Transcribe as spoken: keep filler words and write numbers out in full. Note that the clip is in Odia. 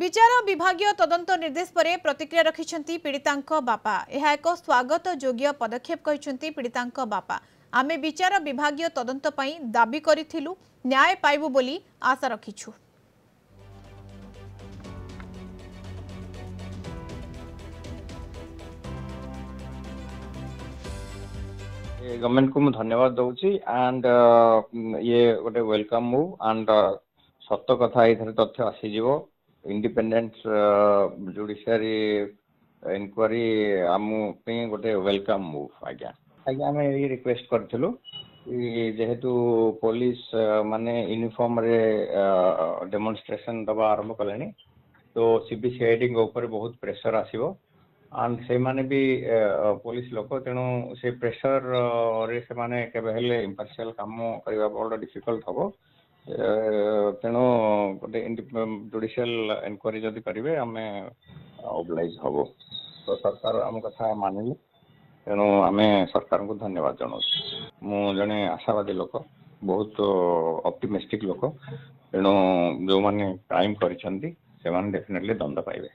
ବିଚାର ବିଭାଗୀୟ ତଦନ୍ତ ନିର୍ଦ୍ଦେଶ ପରେ ପ୍ରତିକ୍ରିୟା ରଖିଛନ୍ତି ପୀଡ଼ିତାଙ୍କ ବାପା। ଏହା ଏକ ସ୍ୱାଗତ ଯୋଗ୍ୟ ପଦକ୍ଷେପ କହିଛନ୍ତି ପୀଡ଼ିତାଙ୍କ ବାପା। ଆମେ ବିଚାର ବିଭାଗୀୟ ତଦନ୍ତ ପାଇଁ ଦାବି କରିଥିଲୁ, ନ୍ୟାୟ ପାଇବୁ ବୋଲି ଆଶା ରଖିଛୁ। ଗଭର୍ଣ୍ଣମେଣ୍ଟକୁ ମୁଁ ଧନ୍ୟବାଦ ଦଉଛି ଆଣ୍ଡ ଇଏ ଗୋଟେ welcome move and ସତ କଥା ଏଇଥିରେ ତଥ୍ୟ ଆସିଯିବ। ଇଣ୍ଡିପେଣ୍ଡେଣ୍ଟ ଜୁଡ଼ିସିଆରୀ ଏନକ୍ୱାରି ଆମ ପାଇଁ ଗୋଟେ welcome move. ଆଜ୍ଞା ଆଜ୍ଞା, ଆମେ ଏଇ ରିକ୍ୱେଷ୍ଟ କରିଥିଲୁ କି ଯେହେତୁ ପୋଲିସ ମାନେ ୟୁନିଫର୍ମରେ ଡେମନଷ୍ଟ୍ରେସନ ଦେବା ଆରମ୍ଭ କଲେଣି, ତ ସିବିସିଆଇଡିଙ୍କ ଉପରେ ବହୁତ ପ୍ରେସର ଆସିବ ଆଣ୍ଡ ସେମାନେ ବି ପୋଲିସ ଲୋକ, ତେଣୁ ସେ ପ୍ରେସରରେ ସେମାନେ କେବେ ହେଲେ ଇମ୍ପାର୍ସିଆଲ କାମ କରିବା ବଡ଼ ଡିଫିକଲ୍ଟ ହବ। ତେଣୁ ଗୋଟେ ଜୁଡ଼ିସିଆଲ ଏନକ୍ୱାରି ଯଦି କରିବେ, ଆମେ ଓବ୍ଲାଇଜ୍ ହବୁ। ତ ସରକାର ଆମ କଥା ମାନିଲେ, ତେଣୁ ଆମେ ସରକାରଙ୍କୁ ଧନ୍ୟବାଦ ଜଣାଉଛୁ। ମୁଁ ଜଣେ ଆଶାବାଦୀ ଲୋକ, ବହୁତ ଅପ୍ଟିମିଷ୍ଟିକ୍ ଲୋକ, ତେଣୁ ଯେଉଁମାନେ କ୍ରାଇମ୍ କରିଛନ୍ତି ସେମାନେ ଡେଫିନେଟଲି ଦଣ୍ଡ ପାଇବେ।